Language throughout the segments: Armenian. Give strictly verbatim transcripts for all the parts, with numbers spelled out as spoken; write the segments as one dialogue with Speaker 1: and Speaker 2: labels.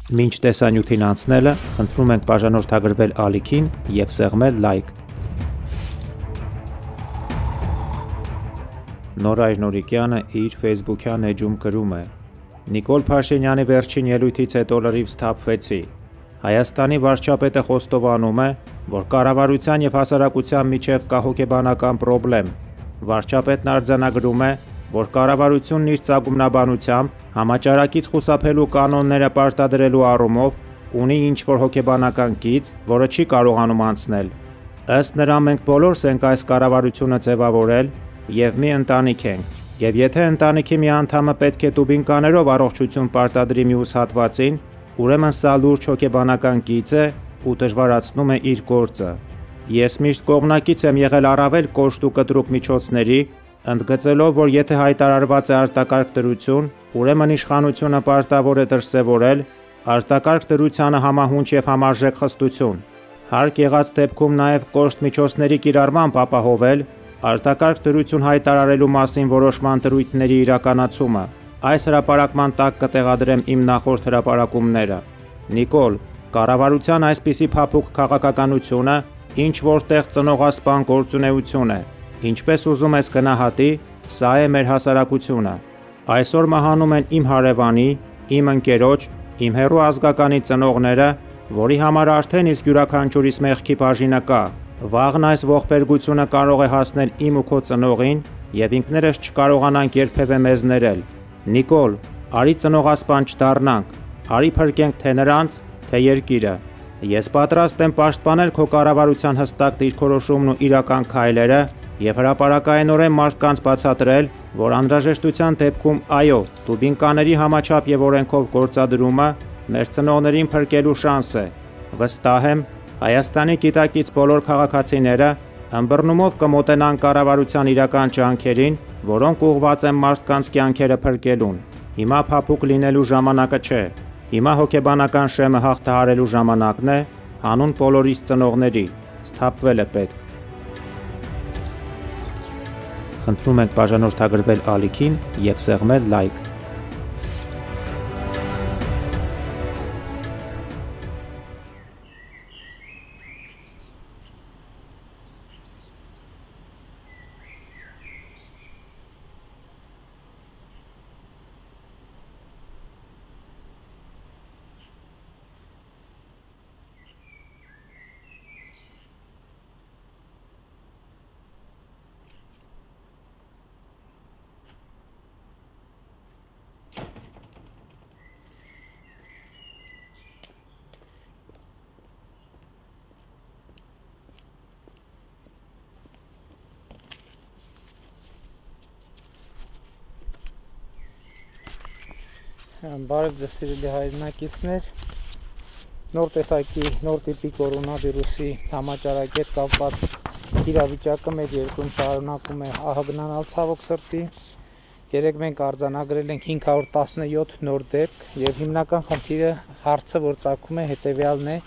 Speaker 1: Մինչ տեսանյութին անցնելը, խնդրում ենք բաժանորդագրվել ալիքին և սեղմել լայք։ Նորայր Նորիկյանը իր ֆեյսբուքյան էջում գրում է. Նիկոլ Փաշինյանի վերջին ելույթից հետո լրիվ սթափվեցի։ Հայաստանի վարչապետը խոստովանում է, որ կառավարության և հասարակության միջև կա հոգեբանական պրոբլեմ։ Վարչապետն արձանագրում է, որ կառավարությունն իր ծագումնաբանությամբ համաճարակից խուսափելու կանոնները պարտադրելու առումով ունի ինչ-որ հոգեբանական գիծ, որը չի կարողանում անցնել։ Ըստ նրա, մենք բոլորս ենք այս կառավարությունը ձևավորել և մի ընտանիք ենք, և եթե ընտանիքի մի անդամը պետք է տուբինկաներով առողջություն պարտադրի մյուս հատվածին, ուրեմն սա լուրջ հոգեբանական գիծ է ու դժվարացնում է իր գործը։ Ես միշտ կողմնակից եմ եղել առավել կոշտ ու կտրուկ միջոցների, ընդգծելով, որ եթե հայտարարված է արտակարգ դրություն, ուրեմն իշխանությունը պարտավոր է դրսևորել արտակարգ դրությանը համահունչ և համարժեք խստություն։ Հարկ եղած դեպքում նաև կոշտ միջոցների կիրառմամբ ապահովել արտակարգ դրություն հայտարարելու մասին որոշման դրույթների իրականացումը։ Այս հրապարակման տակ կտեղադրեմ իմ նախորդ հրապարակումները։ Նիկոլ, կառավարության այսպիսի փափուկ քաղաքականությունը ինչ-որտեղ ծնողասպան գործունեություն է։ Ինչպես ուզում ես գնահատի, սա է մեր հասարակությունը։ Այսօր մահանում են իմ հարևանի, իմ ընկերոջ, իմ հեռու ազգականի ծնողները, որի համար արդեն իսկ յուրաքանչյուրիս մեղքի բաժինը կա։ Վաղն այս ողբերգությունը կարող է հասնել իմ ու քո ծնողին, և ինքներս չկարողանանք երբևէ մեզ ներել։ Նիկոլ, արի ծնողասպան չդառնանք, արի փրկենք թե նրանց, թե երկիրը։ Ես պատրաստ եմ պաշտպանել քո կառավարության հստակ դիրքորոշումն ու իրական քայլերը և հրապարակայնորեն մարդկանց բացատրել, որ անհրաժեշտության դեպքում, այո, տուբինկաների համաչափ և օրենքով գործադրումը մեր ծնողներին փրկելու շանս է։ Վստահ եմ, Հայաստանի գիտակից բոլոր քաղաքացիները ըմբռնումով կմոտենան կառավարության իրական ջանքերին, որոնք ուղղված են մարդկանց կյանքերը փրկելուն։ Հիմա փափուկ լինելու ժամանակը չէ։ Հիմա հոգեբանական շեմը հաղթահարելու ժամանակն է, հանուն բոլորիս ծնողների։ Սթափվել է պետք։ Խնդրում ենք բաժանորդագրվել ալիքին և սեղմել լայք։
Speaker 2: Բարև ձեզ սիրելի հայրենակիցներ, նոր տեսակի, նոր տիպի կորոնավիրուսի համաճարակի հետ կապված իրավիճակը մեր երկրում շարունակում է ահագնանալ ցավոք սրտի։ Երեկ մենք արձանագրել ենք հինգ հարյուր տասնյոթ նոր դեպք և հիմնական խնդիրը հարցը, որ ծագում է, հետևյալն է,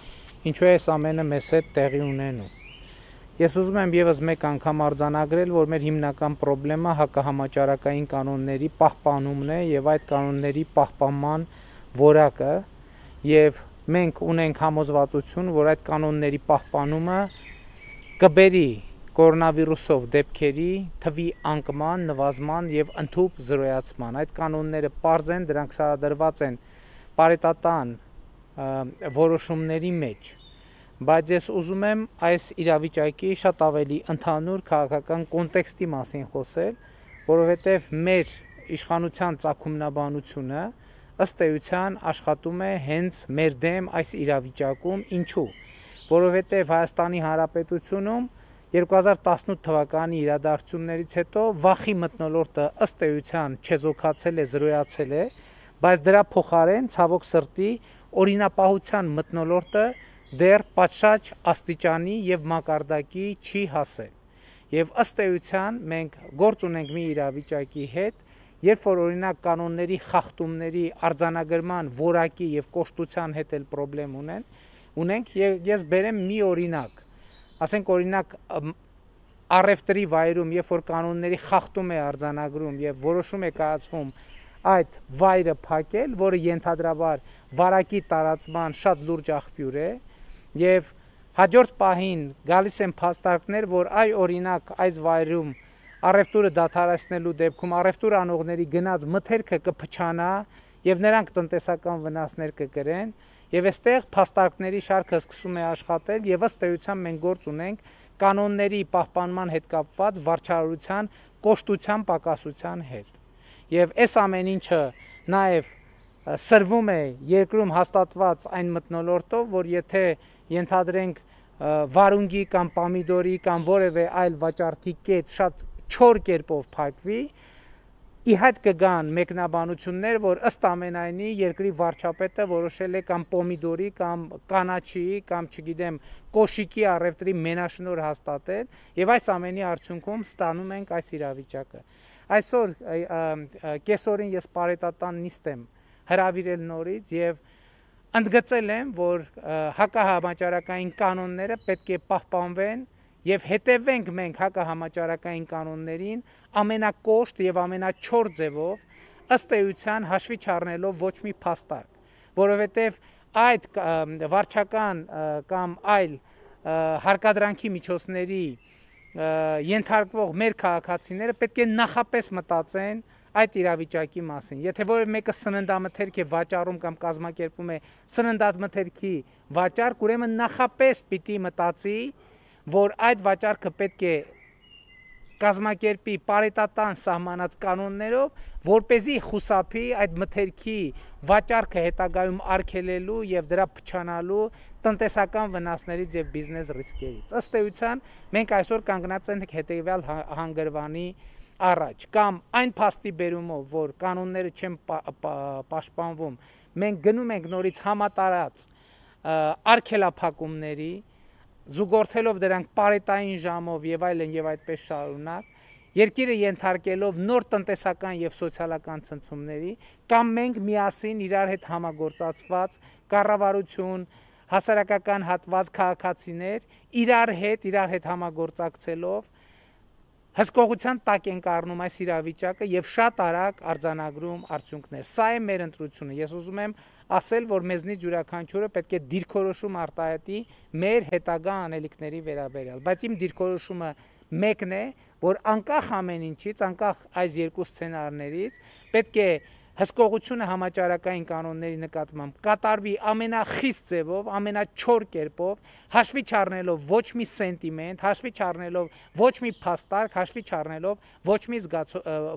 Speaker 2: ինչու է այս ամենը մեզ հետ տեղի ունենում։ Ես ուզում եմ ևս մեկ անգամ արձանագրել, որ մեր հիմնական պրոբլեմը հակահամաճարակային կանոնների պահպանումն է և այդ կանոնների պահպանման որակը, և մենք ունենք համոզվածություն, որ այդ կանոնների պահպանումը կբերի կորոնավիրուսով դեպքերի թվի անկման, նվազման և ընդհուպ զրոյացման։ Այդ կանոնները պարզ են, դրանք շարադրված են պարետատան որոշումների մեջ։ Բայց ես ուզում եմ այս իրավիճակի շատ ավելի ընդհանուր քաղաքական կոնտեքստի մասին խոսել, որովհետև մեր իշխանության ծագումնաբանությունը ըստ էության աշխատում է հենց մեր դեմ այս իրավիճակում։ Ինչու՞։ Որովհետև Հայաստանի Հանրապետությունում երկու հազար տասնութ թվականի իրադարձություններից հետո վախի մթնոլորտը ըստ էության չեզոքացել է, զրոյացել է, բայց դրա փոխարեն ցավոք սրտի օրինապահության մթնոլորտը դեռ պատշաճ աստիճանի և մակարդակի չի հասել։ Եվ ըստ էության մենք գործ ունենք մի իրավիճակի հետ, երբ որ օրինակ կանոնների խախտումների արձանագրման որակի և կոշտության հետ էլ պրոբլեմ ունեն, ունենք, և ես բերեմ մի օրինակ, ասենք օրինակ առևտրի վայրում, երբ որ կանոնների խախտում է արձանագրում և որոշում է կայացվում այդ վայրը փակել, որը ենթադրաբար վարակի տարածման շատ լուրջ աղբյուր է, եւ հաջորդ պահին գալիս են փաստարկներ, որ այ օրինակ այս վայրում առևտուրը դադարեցնելու դեպքում առևտուր անողների գնաց մթերքը կփչանա եւ նրանք տնտեսական վնասներ կկրեն, եւ այստեղ փաստարկների շարքը սկսում է աշխատել եւ ըստ էության մենք գործ ունենք կանոնների պահպանման հետ կապված վարչարարության կոշտության պակասության հետ։ Եվ այս ամեն ինչը նաեւ սրվում է երկրում հաստատված այն մթնոլորտով, որ եթե ենթադրենք վարունգի կամ պամիդորի կամ որևէ այլ վաճառքի կետ շատ չոր կերպով փակվի, ի հայտ կգան մեկնաբանություններ, որ ըստ ամենայնի երկրի վարչապետը որոշել է կամ պոմիդորի կամ կանաչի կամ չգիտեմ կոշիկի առևտրի մենաշնոր հաստատել, եւ այս ամենի արդյունքում ստանում ենք այս իրավիճակը։ Այսօր կեսօրին ես պարետատան նիստ եմ հրավիրել նորից եւ ընդգծել եմ, որ հակահամաճարակային կանոնները պետք է պահպանվեն եւ հետևենք մենք հակահամաճարակային կանոններին ամենակոշտ եւ ամենաչոր ձևով ըստ էության հաշվի չառնելով ոչ մի փաստարկ, որովհետեւ այդ վարչական կամ այլ հարկադրանքի միջոցների ենթարկվող մեր քաղաքացիները պետք է նախապես մտածեն այդ իրավիճակի մասին։ Եթե որևէ մեկը սննդամթերք է վաճառում կամ կազմակերպում է սննդամթերքի վաճառք, ուրեմն նախապես պիտի մտածի, որ այդ վաճառքը պետք է կազմակերպի պարետատան սահմանած կանոններով, որպեսզի խուսափի այդ մթերքի վաճառքը հետագայում արգելելու եւ դրա փչանալու տնտեսական վնասներից եւ բիզնես ռիսկերից։ Ըստ էության մենք այսօր կանգնած ենք հետեւյալ հանգրվանի առաջ, կամ այն փաստի բերումով, որ կանոնները չեն պաշտպանվում, մենք գնում ենք նորից համատարած արգելափակումների, զուգորդելով դրանք պարետային ժամով եւ այլն եւ այդպես շարունակ, երկիրը ենթարկելով նոր տնտեսական եւ սոցիալական ցնցումների, կամ մենք միասին իրար հետ համագործակցված կառավարություն, հասարակական հատված քաղաքացիներ իրար հետ, իրար հետ համագործակցելով հսկողության տակ ենք առնում այս իրավիճակը եւ շատ արագ արձանագրում արդյունքներ։ Սա է մեր ընտրությունը։ Ես ուզում եմ ասել, որ մեզնից յուրաքանչյուրը պետք է դիրքորոշում արտահայտի մեր հետագա անելիքների վերաբերյալ, բայց իմ դիրքորոշումը մեկն է, որ անկախ ամեն ինչից, անկախ այս երկու սցենարներից, պետք է հսկողությունը համաճարակային կանոնների նկատմամբ կատարվի ամենախիստ ձևով, ամենաչոր կերպով, հաշվի չառնելով ոչ մի սենտիմենտ, հաշվի չառնելով ոչ մի փաստարկ, հաշվի չառնելով ոչ մի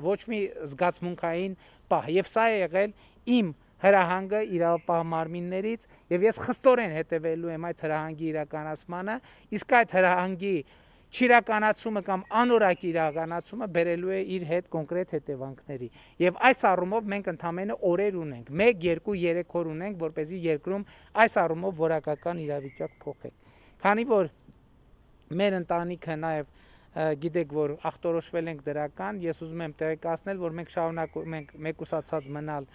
Speaker 2: ոչ մի զգացմունքային պահ։ Եվ սա է եղել իմ հրահանգը իրավապահ մարմիններից, եւ ես խստորեն հետևելու եմ այդ հրահանգի իրականացմանը, իսկ այդ հրահանգի չիրականացումը կամ անորակ իրականացումը բերելու է իր հետ կոնկրետ հետևանքների։ Եվ այս առումով մենք ընդամենը օրեր ունենք, մեկ, երկու, երեք օր ունենք, որպեսզի երկրում այս առումով որակական իրավիճակ փոխենք։ Քանի որ մեր ընտանիքը նաև գիտեք, որ ախտորոշվել ենք դրական, ես ուզում եմ տեղեկացնել, որ մենք շարունակում ենք մեկուսացած մնալ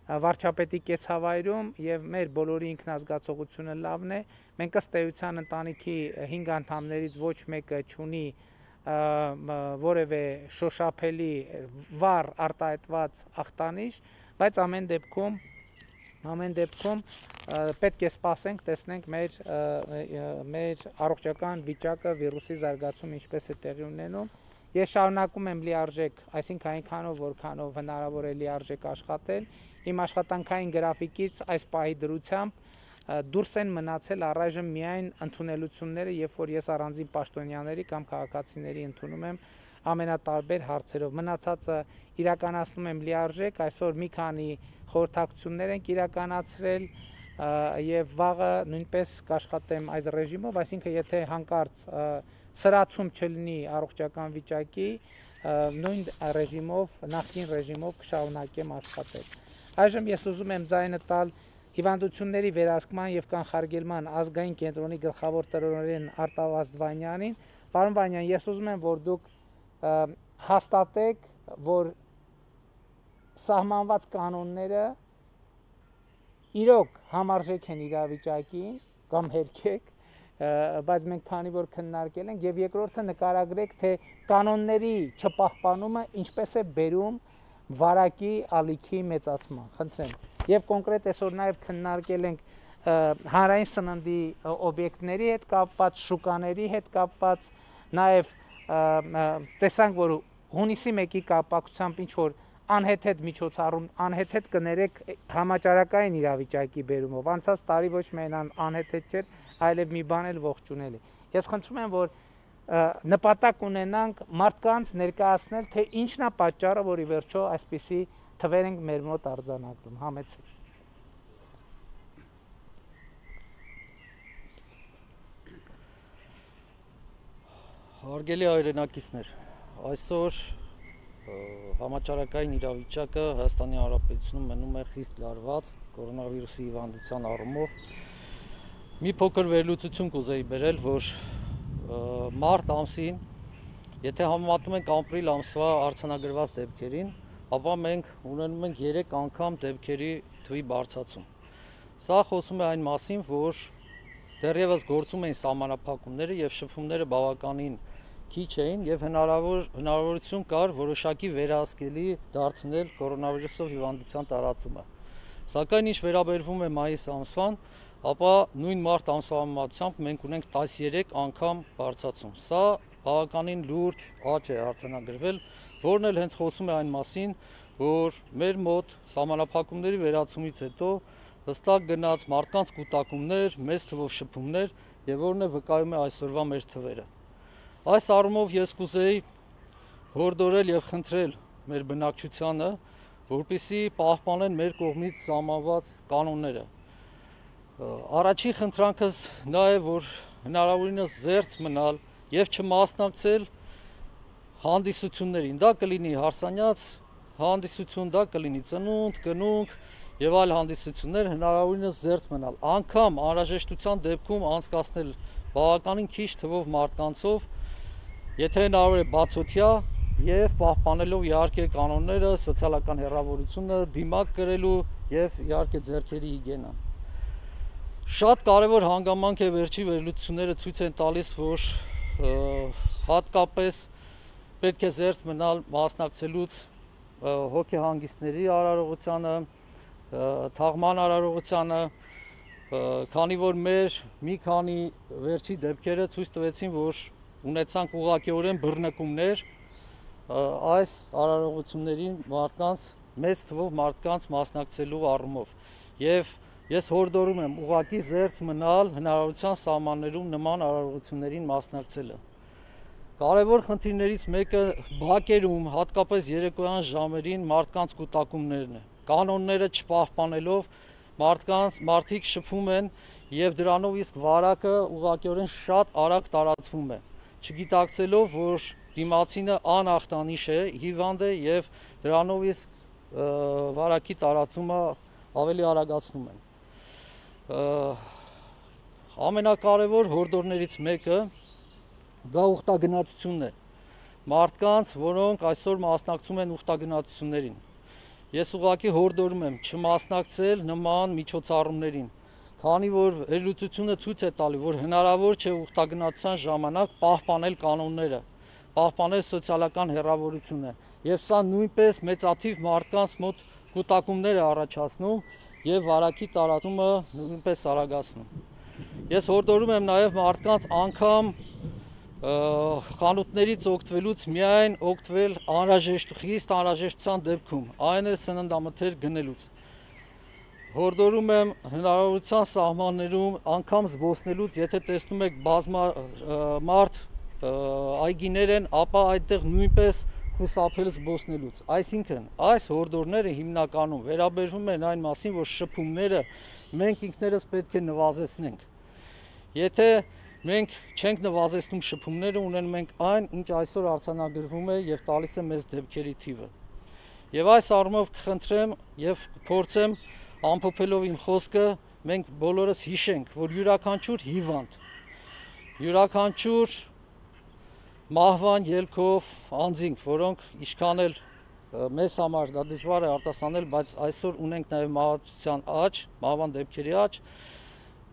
Speaker 2: վարչապետի կեցավայրում եւ մեր բոլորի ինքնազգացողությունը լավն է։ Մենք ըստ էության ընտանիքի հինգ անդամներից ոչ մեկը չունի որևէ շոշափելի վառ արտահայտված ախտանիշ, բայց ամեն դեպքում ամեն դեպքում պետք է սպասենք, տեսնենք մեր մեր առողջական վիճակը, վիրուսի զարգացումը ինչպես է տեղի ունենում։ Ես շարունակում եմ լիարժեք, այսինքն այնքանով, որքանով հնարավոր է լիարժեք աշխատել։ Իմ աշխատանքային գրաֆիկից այս պահի դրությամբ դուրս են մնացել առայժմ միայն ընդունելությունները, երբ որ ես առանձին պաշտոնյաների կամ քաղաքացիների ընդունում եմ ամենատարբեր հարցերով։ Մնացածը իրականացնում եմ լիարժեք, այսօր մի քանի խորհրդակցություններ ենք իրականացրել եւ վաղը նույնպես կաշխատեմ այս ռեժիմով, այսինքն եթե հանկարծ սրացում չլինի առողջական վիճակի, նույն ռեժիմով, նախկին ռեժիմով կշարունակեմ աշխատել։ Այժմ ես ուզում եմ ձայնը տալ հիվանդությունների վերահսկման եւ կանխարգելման ազգային կենտրոնի գլխավոր տնօրեն Արտավազդ Վանյանին։ Պարոն Վանյան, ես ուզում եմ, որ դուք հաստատեք, որ սահմանված կանոնները իրոք համարժեք են իրավիճակին կամ հերքեք, բայց մենք քանի որ քննարկել ենք, եւ երկրորդը նկարագրեք, թե կանոնների չպահպանումը ինչպես է բերում վարակի ալիքի մեծացման, խնդրեմ։ Եվ կոնկրետ այսօր նաև քննարկել ենք հանրային սննդի օբյեկտների հետ կապված, շուկաների հետ կապված, նաև տեսանք, որ հունիսի մեկի կապակցությամբ ինչ որ անհեթեթ միջոցառում, անհեթեթ կներեք համաճարակային իրավիճակի բերումով, անցած տարի ոչ միայն անհեթեթ չէր, այլև մի բան էլ ողջունել է։ Ես խնդրում եմ, որ նպատակ ունենանք մարդկանց ներկայացնել, թե ինչն է պատճառը, որ ի վերջո այսպիսի թվեր ենք մեր մոտ արձանագրում, համեցեք։
Speaker 3: Հարգելի հայրենակիցներ, այսօր համաճարակային իրավիճակը Հայաստանի Հանրապետությունում մնում է խիստ լարված կորոնավիրուսի հիվանդության առումով։ Մի փոքր վերլուծություն կուզեի բերել, որ մարտ ամսին, եթե համեմատում ենք ապրիլ ամսվա արձանագրված դեպքերին, ապա մենք ունենում ենք երեք անգամ դեպքերի թվի բարձրացում։ Սա խոսում է այն մասին, որ դեռևս գործում էին սահմանափակումները եւ շփումները բավականին քիչ էին եւ հնարավոր հնարավորություն կար որոշակի վերահսկելի դարձնել կորոնավիրուսով հիվանդության տարածումը։ Սակայն ինչ վերաբերվում է մայիս ամսվան, ապա նույն մարտ ամսվա համեմատությամբ մենք ունենք տասներեք անգամ բարձրացում։ Սա բավականին լուրջ աճ է արձանագրվել, որն էլ հենց խոսում է այն մասին, որ մեր մոտ սահմանափակումների վերացումից հետո հստակ գնաց մարդկանց կուտակումներ, մեծ թվով շփումներ եւ որն է վկայում է այսօրվա մեր թվերը։ Այս առումով ես կուզեի հորդորել եւ խնդրել մեր բնակչությանը, որպեսզի պահպանեն մեր կողմից սահմանված կանոնները։ Առաջին խնդրանքս նա է, որ հնարավորինս զերծ մնալ եւ չմասնակցել հանդիսություններին։ Դա կլինի հարսանյաց հանդիսություն, դա կլինի ծնունդ, կնունք եւ այլ հանդիսություններ, հնարավորինս զերծ մնալ։ Անգամ անհրաժեշտության դեպքում անցկացնել բավականին քիչ թվով մարդկանցով, եթե հնարավոր է բացօթյա եւ պահպանելով իհարկե կանոնները, սոցիալական հեռավորությունը, դիմակ կրելու եւ իհարկե ձեռքերի հիգիենան։ Շատ կարևոր հանգամանք է վերջի վերլուծությունները ցույց են տալիս, որ հատկապես պետք է զերծ մնալ մասնակցելուց հոգեհանգիստների արարողությանը, թաղման արարողությանը, քանի որ մեր մի քանի վերջի դեպքերը ցույց տվեցին, որ ունեցանք ուղղակիորեն բռնկումներ այս արարողություններին մարդկանց մեծ թվով մարդկանց մասնակցելու առումով եւ ես հորդորում եմ ուղղակի զերծ մնալ հնարավորության սահմաններում նման արարողություններին մասնակցելը։ Կարևոր խնդիրներից մեկը բակերում, հատկապես երեկոյան ժամերին մարդկանց կուտակումներն է։ Կանոնները չպահպանելով մարդկանց մարդիկ շփում են եւ դրանով իսկ վարակը ուղղակիորեն շատ արագ տարածվում է, չգիտակցելով, որ դիմացինը անախտանիշ է, հիվանդ է եւ դրանով իսկ վարակի տարածումը ավելի արագացնում են։ Ամենակարևոր հորդորներից մեկը դա ուխտագնացությունն է։ Մարդկանց, որոնք այսօր մասնակցում են ուխտագնացություններին։ Ես ուղղակի հորդորում եմ չմասնակցել նման միջոցառումներին, քանի որ վերլուծությունը ցույց է տալի, որ հնարավոր չէ ուխտագնացության ժամանակ պահպանել կանոնները, պահպանել սոցիալական հեռավորությունը, եւ սա նույնպես մեծաթիվ մարդկանց մոտ կուտակումներ է առաջացնում եւ վարակի տարածումը նույնպես արագացնում։ Ես հորդորում եմ նաեւ մարդկանց անգամ խանութներից օգտվելուց միայն օգտվել անհրաժեշտ խիստ անհրաժեշտության դեպքում, այն է սննդամթեր գնելուց։ Հորդորում եմ հնարավորության սահմաններում անգամ զբոսնելուց, եթե տեսնում եք բազմա մարդ այգիներ են, ապա այդտեղ նույնպես խուսափել զբոսնելուց։ Այսինքն, այս հորդորները հիմնականում վերաբերվում են այն մասին, որ շփումները մենք ինքներս պետք է նվազեցնենք։ Եթե մենք չենք նվազեցնում շփումները, ունենում ենք այն, ինչ այսօր արձանագրվում է եւ տալիս է մեզ դեպքերի թիվը։ Եվ այս առումով կխնդրեմ եւ կփորձեմ ամփոփելով իմ խոսքը, մենք բոլորս հիշենք, որ յուրաքանչյուր հիվանդ, յուրաքանչյուր մահվան ելքով անձինք, որոնք ինչքան էլ մեզ համար դա դժվար է արտասանել, բայց այսօր ունենք նաեւ մահացության աճ, մահվան դեպքերի աճ,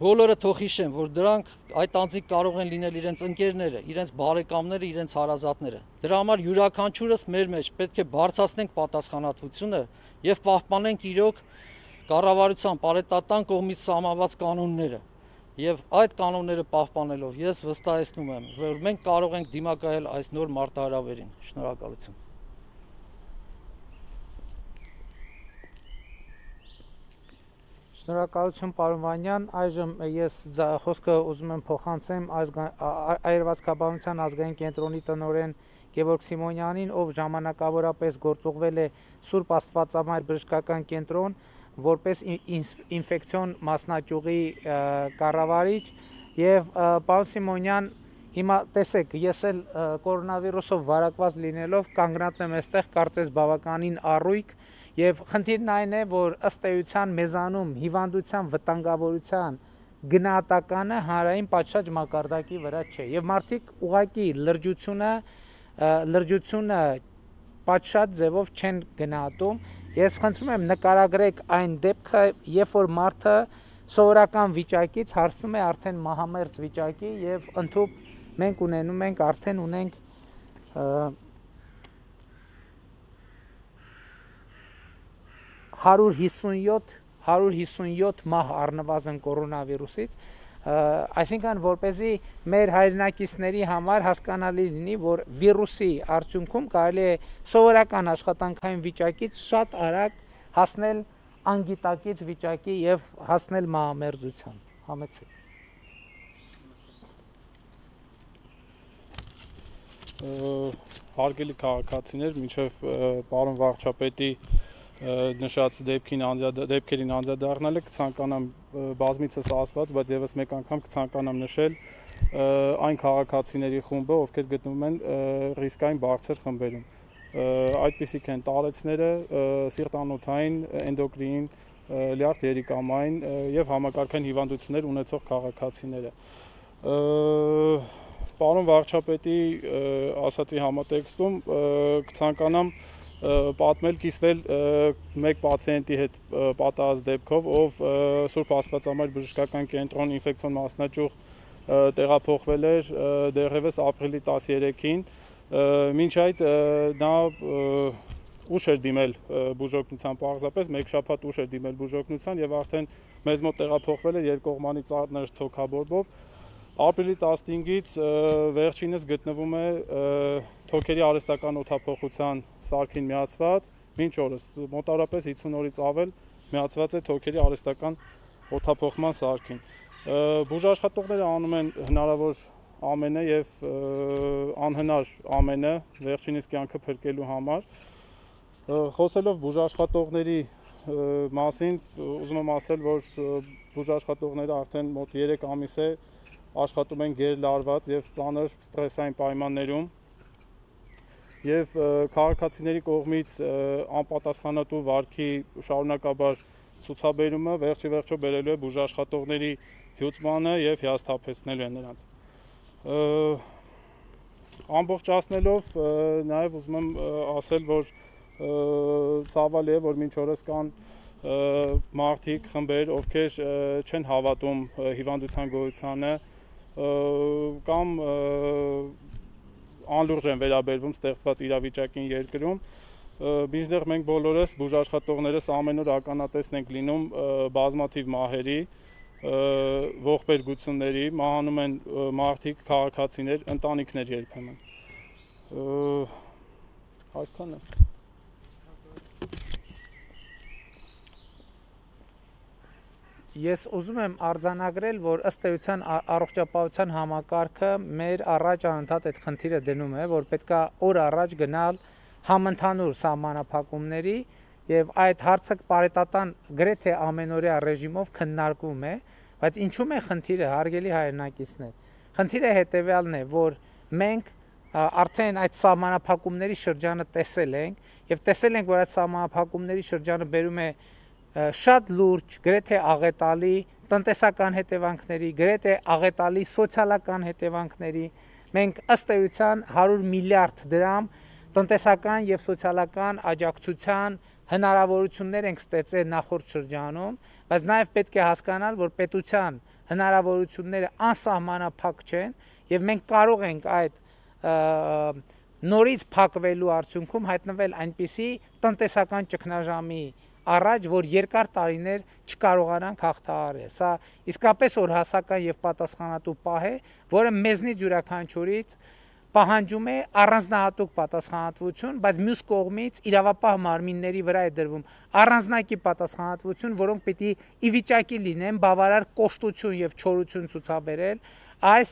Speaker 3: բոլորը թող հիշեն, որ դրանք այդ անձիկ կարող են լինել իրենց ընկերները, իրենց բարեկամները, իրենց հարազատները։ Դրա համար յուրաքանչյուրս մեր մեջ պետք է բարձրացնենք պատասխանատվությունը եւ պահպանենք իրոք կառավարության պարետատան կողմից սահմանված կանոնները։ Եվ այդ կանոնները պահպանելով ես վստահեցնում եմ, որ մենք կարող ենք դիմակայել այս նոր մարտահրավերին։ Շնորհակալություն։
Speaker 2: Շնորհակալություն պարոն Վանյան, այժմ ես խոսքը ուզում եմ փոխանցեմ Այրվածքաբանության ազգային կենտրոնի տնօրեն Գևորգ Սիմոնյանին, ով ժամանակավորապես գործուղվել է Սուրբ Աստվածամայր բժշկական կենտրոն որպես ինֆեկցիոն մասնաճյուղի կառավարիչ, եւ պարոն Սիմոնյան, հիմա տեսեք, ես էլ կորոնավիրուսով վարակված լինելով կանգնած եմ այստեղ, կարծես բավականին առույգ, եւ խնդիրն այն է, որ ըստ էության մեզանում հիվանդության վտանգավորության գնահատականը հանրային պատշաճ մակարդակի վրա չէ, եւ մարդիկ ուղղակի լրջությունը լրջությունը պատշաճ ձևով չեն գնահատում։ Ես խնդրում եմ նկարագրեք այն դեպքը, երբ որ մարդը սովորական վիճակից հարցնում է արդեն մահամերձ վիճակի եւ ընդհանուր մենք ունենում ենք արդեն ունենք հարյուր հիսունյոթ մահ առնվազն կորոնավիրուսից, այսինքն որպեսզի մեր հայրենակիցների համար հասկանալի լինի, որ վիրուսի արդյունքում կարելի է սովորական աշխատանքային վիճակից շատ արագ հասնել անգիտակից վիճակի եւ հասնել մահամերձության։ Համեցեք։
Speaker 4: Հարգելի քաղաքացիներ, մինչև պարոն վարչապետի նշած դեպքերին անդրադառնալը կցանկանամ բազմիցս ասված, բայց եւս մեկ անգամ կցանկանամ նշել այն քաղաքացիների խումբը, ովքեր գտնվում են ռիսկային բարձր խմբերում։ Այդպիսիք են տարեցները, սիրտանոթային, էնդոկրին, լյարդ երիկամային եւ համակարգային հիվանդություններ ունեցող քաղաքացիները։ Պարոն վարչապետի ասացի համատեքստում կցանկանամ պատմել, կիսվել մեկ պացիենտի հետ պատահած դեպքով, ով Սուրբ Աստվածամայր բժշկական կենտրոն ինֆեկցիոն մասնաճյուղ տեղափոխվել էր դեռևս ապրիլի տասներեքին, մինչ այդ նա ուշ էր դիմել բուժօգնության, պարզապես մեկ շաբաթ ուշ էր դիմել բուժօգնության եւ արդեն մեզ մոտ տեղափոխվել էր երկկողմանի ծանր թոքաբորբով։ Ապրիլի տասնհինգից վերջինս գտնվում է թոքերի արհեստական օդափոխության սարքին միացված, մինչ օրս մոտավորապես հիսուն օրից ավել միացված է թոքերի արհեստական օդափոխման սարքին։ Բուժաշխատողները անում են հնարավոր ամենը եւ անհնար ամենը վերջինիս կյանքը փրկելու համար։ Խոսելով բուժաշխատողների մասին, ուզում եմ ասել, որ բուժաշխատողները արդեն մոտ երեք ամիս է աշխատում են գերլարված եւ ծանր ստրեսային պայմաններում եւ քաղաքացիների կողմից անպատասխանատու վարքի շարունակաբար ցուցաբերումը վերջի վերջո բերելու է բուժաշխատողների հյուծմանը եւ հիասթափեցնելու է նրանց։ Ամբողջացնելով նաեւ ուզում եմ ասել, որ ցավալի է, որ մինչ օրս կան մարդիկ, խմբեր, ովքեր չեն հավատում հիվանդության գոյությանը կամ անլուրջ են վերաբերվում ստեղծված իրավիճակին երկրում, մինչդեռ մենք բոլորս բուժաշխատողներս ամեն օր ականատեսն ենք լինում բազմաթիվ մահերի, ողբերգությունների, մահանում են մարդիկ, քաղաքացիներ, ընտանիքներ երբեմն։ Այսքանը։
Speaker 2: Ես ուզում եմ արձանագրել, որ ըստ էության առողջապահության համակարգը մեր առաջ անընդհատ այդ խնդիրը դնում է, որ պետքա օր առաջ գնալ համընդհանուր սահմանափակումների եւ այդ հարցը պարետատան գրեթե ամենօրյա ռեժիմով քննարկվում է, բայց ինչու՞մ է խնդիրը, հարգելի հայրենակիցներ։ Խնդիրը հետեւյալն է, որ մենք արդեն այդ սահմանափակումների շրջանը տեսել ենք եւ տեսել ենք, որ այդ սահմանափակումների շրջանը բերում է շատ լուրջ, գրեթե աղետալի տնտեսական հետևանքների, գրեթե աղետալի սոցիալական հետևանքների։ Մենք ըստ էության հարյուր միլիարդ դրամ տնտեսական եւ սոցիալական աջակցության հնարավորություններ ենք ստեղծել նախորդ շրջանում, բայց նաեւ պետք է հասկանալ, որ պետության հնարավորությունները անսահմանափակ չեն եւ մենք կարող ենք այդ նորից փակվելու արդյունքում հայտնվել այնպիսի տնտեսական ճգնաժամի առաջ, որ երկար տարիներ չկարողանանք հաղթահարել։ Սա իսկապես օրհասական եւ պատասխանատու պահ է, որը մեզնից յուրաքանչյուրից պահանջում է առանձնահատուկ պատասխանատվություն, բայց մյուս կողմից իրավապահ մարմինների վրա է դրվում առանձնակի պատասխանատվություն, որոնք պիտի ի վիճակի լինեն բավարար կոշտություն եւ չորություն ցուցաբերել այս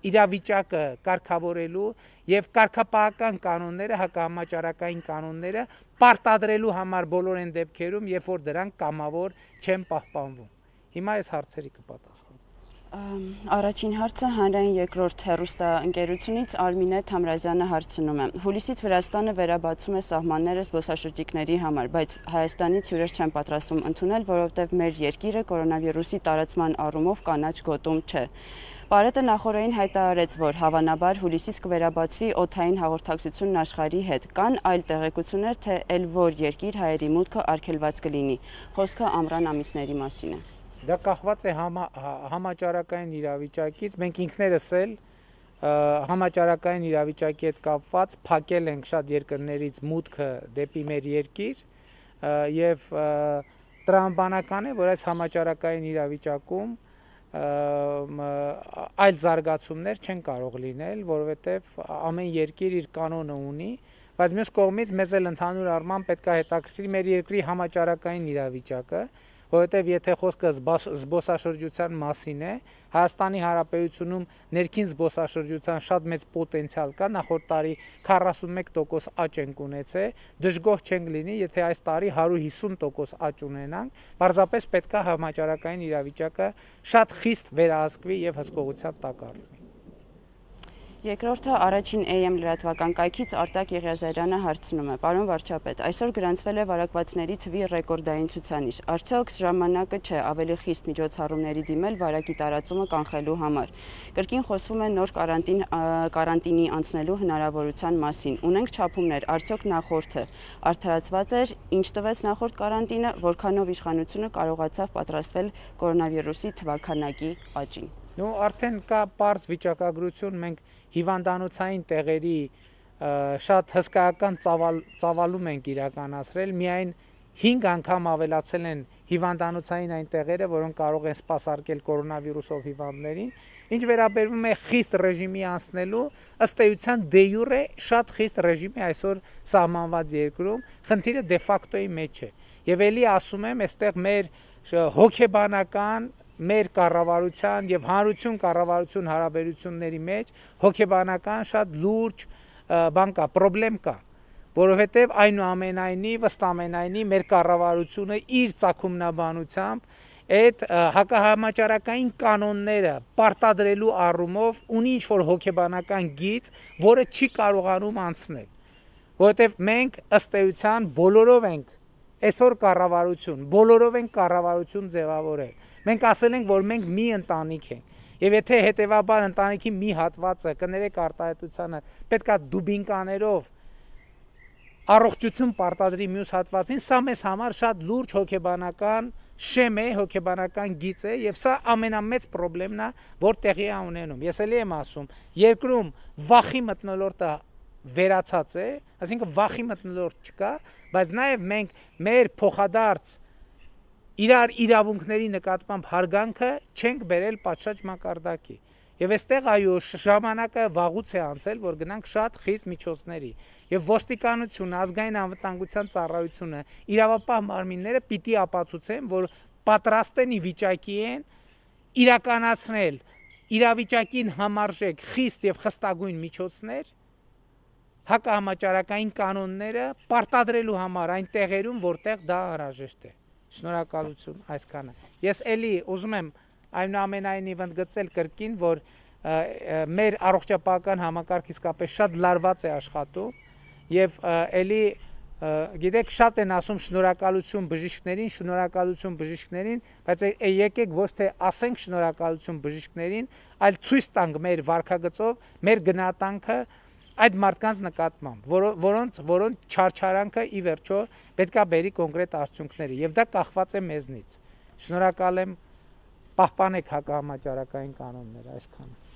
Speaker 2: իրավիճակը կարգավորելու եւ կարգապահական կանոնները, հակահամաճարակային կանոնները պարտադրելու համար բոլոր այն դեպքերում, երբ որ դրանք կամավոր չեն պահպանվում։ Հիմա այս հարցերի կպատասխանեմ։
Speaker 5: Առաջին հարցը հանրային երկրորդ հեռուստաընկերությունից Արմինե Թամրազյանը հարցնում է. Հուլիսից Վրաստանը վերաբացում է սահմանները զբոսաշրջիկների համար, բայց Հայաստանից հյուրեր չեն պատրաստվում ընդունել, որովհետև մեր երկիրը կորոնավիրուսի տարածման առումով կանաչ գոտում չէ։ Պարետը նախորդին հայտարարեց, որ հավանաբար հուլիսից կվերաբացվի օդային հաղորդակցությունն աշխարհի հետ։ Կան այլ տեղեկություններ, թե ել որ երկիր հայերի մուտքը արգելված կլինի։ Խոսքը ամռան ամիսների մասին է։
Speaker 2: Դա կախված է համա, համաճարակային իրավիճակից, մենք ինքներս էլ համաճարակային իրավիճակի հետ կապված փակել ենք շատ երկրներից մուտքը դեպի մեր երկիր եւ տրամաբանական է, որ այս համաճարակային իրավիճակում այլ զարգացումներ չեն կարող լինել, որովհետեւ ամեն երկիր իր կանոնը ունի, բայց մյուս կողմից մեզ էլ ընդհանուր առմամբ պետք է հետաքրքրի մեր երկրի համաճարակային իրավիճակը, որովհետև եթե խոսքը զբոսաշրջության մասին է, Հայաստանի Հանրապետությունում ներքին զբոսաշրջության շատ մեծ պոտենցիալ կա, նախորդ տարի քառասունմեկ տոկոս աճ ենք ունեցել, դժգոհ չենք լինի, եթե այս տարի հարյուր հիսուն տոկոս աճ ունենանք, պարզապես պետք է համաճարակային իրավիճակը շատ խիստ վերահսկվի եւ հսկողության տակ առնվի։
Speaker 5: Երկրորդը առաջին A M լրատվական կայքից Արտակ Եղիազարյանը հարցնում է. Պարոն վարչապետ, այսօր գրանցվել է վարակվածների թվի ռեկորդային ցուցանիշ։ Արդյոք ժամանակը չէ ավելի խիստ միջոցառումների դիմել վարակի տարածումը կանխելու համար։ Կրկին խոսվում է նոր կարանտին կարանտինի անցնելու հնարավորության մասին։ Ունենք չափումներ, արդյոք նախորդը արդարացված էր, ինչ տվեց նախորդ կարանտինը, որքանով իշխանությունը կարողացավ պատրաստվել կորոնավիրուսի թվաքանակի աճին։
Speaker 2: Նու արդեն կա պարզ վիճակագրություն, մենք հիվանդանոցային տեղերի շատ հսկայական ծավալում ենք իրականացրել, միայն հինգ անգամ ավելացել են հիվանդանոցային այն տեղերը, որոնք կարող են սպասարկել կորոնավիրուսով հիվանդներին, ինչ վերաբերվում է խիստ ռեժիմի անցնելու, ըստ էության դե յուրե շատ խիստ ռեժիմի այսօր սահմանված երկրում, խնդիրը դե ֆակտոյի մեջ է։ Եվ ելի ասում եմ, այստեղ մեր հոգեբանական մեր կառավարության եւ հանրություն կառավարություն հարաբերությունների մեջ հոգեբանական շատ լուրջ բան կա, խնդրեմ կա, որովհետեւ այնուամենայնիվ ըստ ամենայնի մեր կառավարությունը իր ցակումնաբանությամբ այդ հակահամաճարակային կանոնները պարտադրելու առումով ունի ինչ-որ հոգեբանական գիծ, որը չի կարողանում անցնել, որովհետեւ մենք ըստ էության բոլորով ենք այսօր կառավարություն, բոլորով ենք կառավարություն ձևավորել։ Մենք ասել ենք, որ մենք մի ընտանիք ենք, եւ եթե հետեւաբար ընտանիքի մի հատվածը կներեք արտահայտությանը պետքա դուբինկաներով առողջություն պարտադրի մյուս հատվածին, սա մեզ համար շատ լուրջ հոգեբանական շեմ է, հոգեբանական գիծ է, եւ սա ամենամեծ խնդիրն է, որ տեղի է ունենում։ Ես էլի եմ ասում, երկրում վախի մթնոլորտը վերացած է, այսինքն վախի մթնոլորտ չկա, բայց նաեւ մենք մեր փոխադարձ իրար իրավունքների նկատմամբ հարգանքը չենք բերել պատշաճ մակարդակի։ Եվ այստեղ այո ժամանակը վաղուց է անցել, որ գնանք շատ խիստ միջոցների։ Եվ ոստիկանությունը, ազգային անվտանգության ծառայությունը, իրավապահ մարմինները պիտի ապացուցեն, որ պատրաստ են ի վիճակի են իրականացնել իրավիճակին համարժեք խիստ եւ խստագույն միջոցներ, հակահամաճարակային կանոնները պարտադրելու համար այն տեղերում, որտեղ դա անհրաժեշտ է։ Շնորհակալություն այսքանը։ Ես էլի ուզում եմ այնուամենայնիվ ընդգծել կրկին, որ մեր առողջապահական համակարգը իսկապես շատ լարված է աշխատում եւ էլի գիտեք շատ են ասում շնորհակալություն բժիշկներին, շնորհակալություն բժիշկներին, բայց եկեք ոչ թե ասենք շնորհակալություն բժիշկներին, այլ ցույց տանք մեր վարքագծով մեր գնահատանքը այդ մարդկանց նկատմամբ, որոնց որոնց չարչարանքը ի վերջո պետքա բերի կոնկրետ արդյունքների եւ դա կախված է մեզնից։ Շնորհակալ եմ պահպանեք հակահամաճարակային կանոնները, այսքանը։